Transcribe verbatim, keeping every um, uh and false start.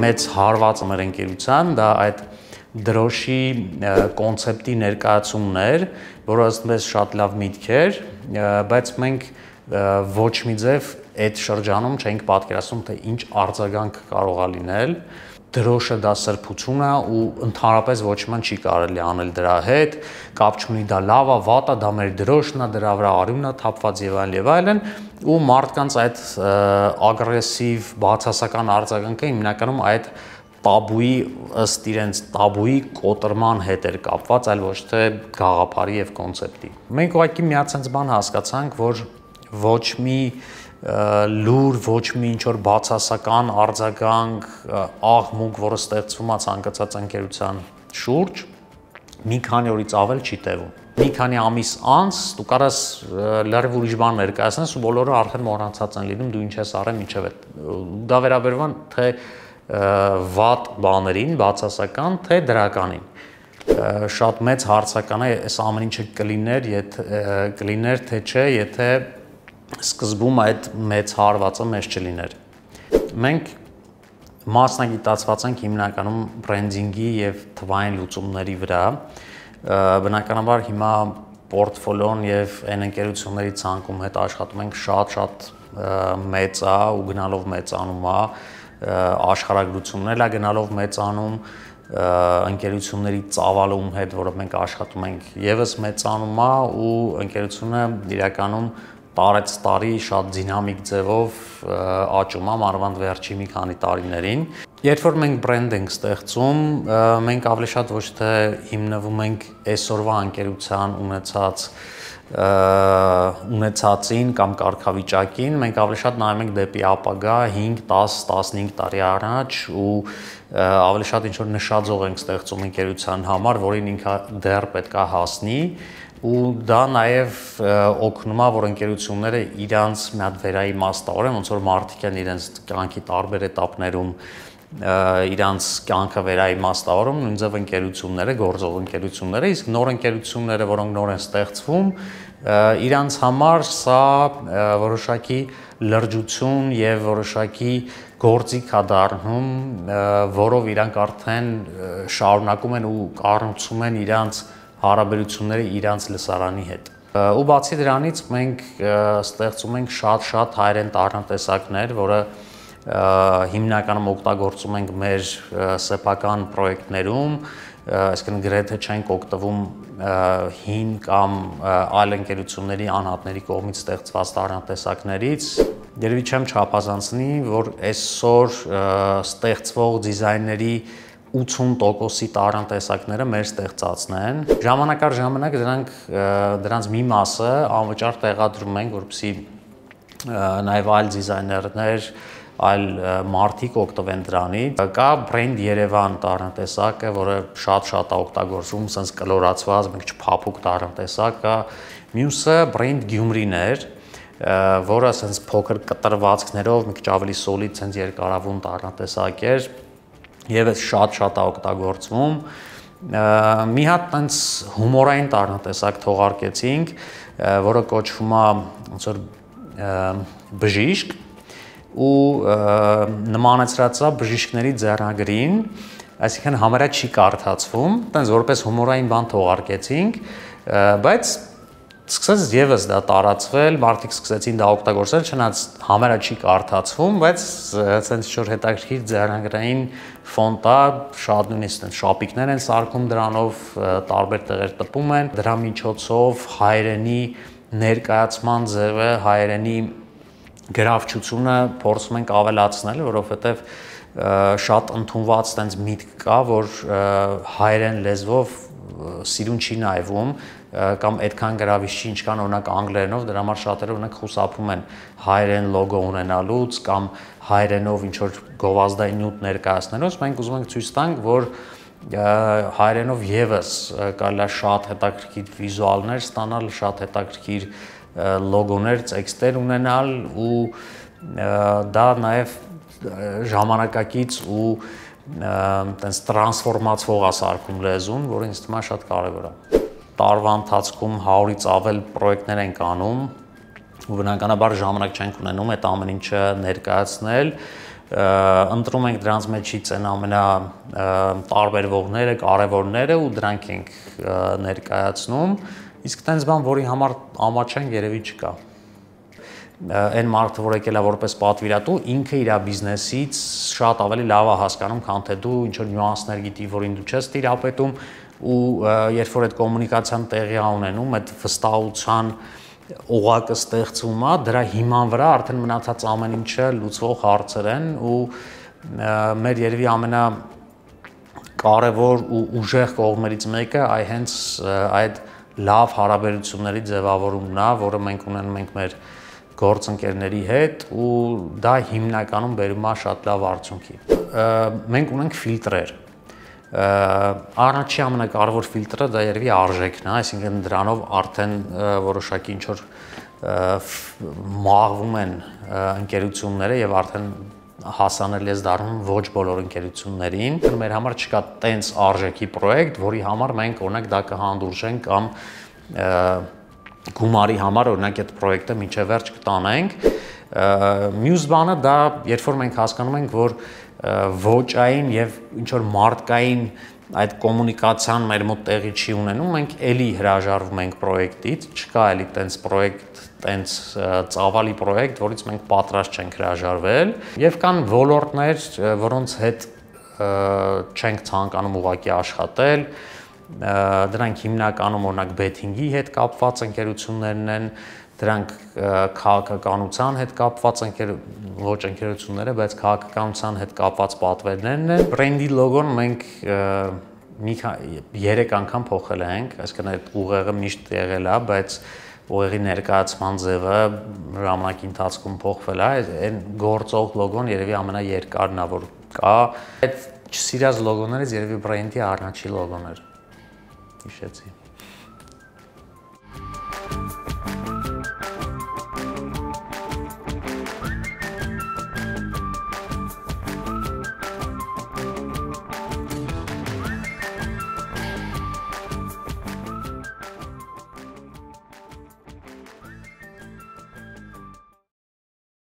մեծ հարվածը մեր ընկերության դա այդ դրոշի կոնցեպտի ներկայացումն էր, որը ըստ մեզ շատ լավ միտք էր, բայց մենք ոչ մի ձև այդ շրջանում չենք պատկերացնում, թե ինչ արձագանք կարող է լինել։ Դրոշը դա սրբություն է ու ընդհանրապես ոչ մի չի կարելի անել դրա հետ, կապ չունի դա լավ է, վատ է, դա մեր դրոշն է, դրա վրա արյունն է թափված եւ այլն եւ այլն, ու մարդկանց այդ ագրեսիվ բացասական արձագանքը հիմնականում այդ տաբուի ըստ իրենց տաբուի կոտրման հետ էր կապված, այլ ոչ թե գաղափարի եւ կոնցեպտի։ Մենք ուղղակի մի հատ sense բան հասկացանք, որ ոչ մի լուր, ոչ մի ինչ-որ բացասական արձագանք, աղմուկ, որը ստեղծվում է ցանկացած ընկերության շուրջ, մի քանի օրից ավել չի տևում։ Մի քանի ամիս անց դու կարաս լրիվ ուրիշ բան ներկայացնես ու բոլորը արդեն մոռացած են լինում, դու ինչ ես արել մինչև այդ։ Դա վերաբերվում թե վատ բաներին, բացասական, թե դրականին։ Շատ մեծ հարցական է այս ամեն ինչը կլիներ, կլիներ թե չէ, եթե սկզբում այդ մեծ հարվածը մեզ չլիներ։ Մենք մասնագիտացված ենք հիմնականում բրենդինգի եւ թվային լուծումների վրա։ Բնականաբար հիմա պորտֆոլիոն եւ այն ընկերությունների ցանկում հետ աշխատում ենք շատ-շատ մեծ է ու գնալով մեծանում է, աշխարհագրությունն է գնալով մեծանում, ընկերությունների ծավալում հետ, որով մենք աշխատում ենք, եւս մեծանում է ու ընկերությունը իրականում տարեց տարի շատ դինամիկ ձևով աճում է մանավանդ վերջի մի քանի տարիներին։ Երբ որ մենք բրենդ ենք ստեղծում, մենք ավելի շատ ոչ թե հիմնվում ենք այսօրվա ընկերության ունեցած ունեցածին կամ կարգավիճակին, մենք ավելի շատ նայում ենք դեպի ապագա հինգ, դաս, տասնհինգ տարի առաջ ու ավելի շատ ինչ որ նշաձող ենք ստեղծում ընկերության համար, որին ինքը դեռ պետք է հասնի ու դա նաև օգնում է, որ ընկերությունները իրանց մի հատ վերաիմաստավորեն, ոնց որ մարդիկ են իրենց կյանքի տարբեր էտապներում իրանց կյանքը վերաիմաստավորում, նույնիսկ ընկերությունները, գործող ընկերությունները, իսկ նոր ընկերությունները, որոնք նոր են ստեղծվում, իրանց համար սա որոշակի լրջություն եւ որոշակի գործիք է դառնում, որով իրանք արդեն շարունակում են ու կառուցում են իրանց հարաբերությունները իրանց լսարանի հետ։ Ու բացի դրանից մենք ստեղծում ենք շատ-շատ հայերեն տառնատեսակներ, որը հիմնականում օգտագործում ենք մեր սեփական պրոյեկտներում, այսինքն գրեթե չենք օգտվում հին կամ այլ ընկերությունների անհատների կողմից ստեղծված տառնատեսակներից։ Երևի չեմ չափազանցնի, որ այսօր ստեղծվող դիզայների ութուն տոկոսի տառնատեսակները մեր ստեղծածն են։ Ժամանակ առ ժամանակ դրանք դրանց մի մասը անվճար տեղադրում ենք, որպեսզի նաև այլ դիզայներներ, այլ մարդիկ օգտվեն դրանից։ Կա բրենդ Երևան տառնատեսակը, որը շատ-շատ է օգտագործվում, sense կլորացված, մի քիչ փափուկ տառնատեսակ կա։ Մյուսը բրենդ Գյումրին էր, որը sense փոքր կտրվածքներով, մի քիչ ավելի solid, sense երկարավուն տառնատեսակ էր։ Եվս շատ-շատ է օգտագործվում։ Մի հատ տենց հումորային տառնատեսակ թողարկեցինք, որը կոչվում է ոնց որ բժիշկ ու նմանեցրած է բժիշկների ձեռագրին, այսինքն համարյա չի կարդացվում, տենց որպես հումորային բան թողարկեցինք, բայց սկսեց եւս դա տարածվել, մարդիկ սկսեցին դա օգտագործել, չնայած համարյա չի կարդացվում, բայց sense ինչ-որ հետաքրքիր ձեռագրային ֆոնտ է, շատ նույնիսկ շապիկներ են սարքում դրանով, տարբեր տեղեր տպում են, դրա միջոցով հայերենի ներկայացման ձևը, հայերենի գրավչությունը փորձում ենք ավելացնել, որովհետեւ շատ ընդունված տենց միտք կա, որ հայերեն լեզվով սիրուն չի նայվում կամ այդքան գրավիչ չի, ինչքան օրինակ անգլերենով, դրա համար շատերը օրինակ խուսափում են հայերեն լոգո ունենալուց կամ հայերենով ինչ որ գովազդային նյութ ներկայացնելուց, մենք ուզում ենք ցույց տանք, որ հայերենով եւս կարելի է շատ հետաքրքիր վիզուալներ ստանալ, շատ հետաքրքիր լոգոներ, տեքստեր ունենալ ու դա նաեւ ժամանակակից ու տենց տրանսֆորմացվող է սարքում լեզուն, որը ինձ թվում է շատ կարևոր է։ Տարվա ընթացքում հարյուրից ավել պրոյեկտներ ենք անում ու բնականաբար ժամանակ չենք ունենում այդ ամեն ինչը ներկայացնել, ընտրում ենք դրանց մեջից այն ամենա տարբերվողները, կարևորները ու դրանք ենք ներկայացնում, իսկ տենց բան, որի համար ամաչենք, երևի չկա։ Այն մարդը, որ եկել է որպես պատվիրատու, ինքը իր բիզնեսից շատ ավելի լավ է հասկանում, քան թե դու ինչ որ նյուանսներ գիտի, որին դու չես տիրապետում, ու երբ որ այդ կոմունիկացիան տեղի է ունենում, այդ վստահության օղակը ստեղծվում է, դրա հիման վրա արդեն մնացած ամեն ինչը լուծվող հարցեր են ու մեր երևի ամենա կարևոր ու ուժեղ կողմերից մեկը այ հենց այդ լավ հարաբերությունների ձևավորումն է, որը մենք ունենում ենք մեր գործընկերների հետ ու դա հիմնականում բերում է շատ լավ արդյունքի։ Մենք ունենք ֆիլտրեր։ Առաջի ամենակարևոր ֆիլտրը դա երևի արժեքն է, այսինքն դրանով արդեն որոշակի ինչ որ մաղվում են ընկերությունները եւ արդեն հասանելի է դառնում ոչ բոլոր ընկերություններին։ Մեր համար չկա տենց արժեքի պրոյեկտ, որի համար մենք օրինակ դա կհանդուրժենք կամ գումարի համար օրինակ այդ պրոյեկտը մինչև վերջ կտանենք։ Մյուս բանը դա, երբ որ մենք հասկանում ենք, որ ոճային եւ ինչ որ մարդկային այդ կոմունիկացիան մեր մոտ տեղի չի ունենում, մենք էլի հրաժարվում ենք պրոյեկտից, չկա էլի տենց պրոյեկտ, տենց ծավալի պրոյեկտ, որից մենք պատրաստ չենք հրաժարվել, եւ կան ոլորտներ, որոնց հետ չենք ցանկանում ուղղակի աշխատել, դրանք հիմնականում օրինակ բեթինգի հետ կապված ընկերություններն են, դրանք քաղաքականության հետ կապված ընկեր ոչ ընկերությունները, բայց քաղաքականության հետ կապված պատվերներն են։ Բրենդի լոգոն մենք մի երեք անգամ փոխել ենք, այսինքն այդ ուղեղը միշտ եղել է, բայց ուղեղի ներկայացման ձևը ժամանակի ընթացքում փոխվել է, այն գործող լոգոն երևի ամենաերկարն է, որ կա։ Այդ չսիրած լոգոներից երևի բրենդի առաջին լոգոն էր։ Հիշեցի։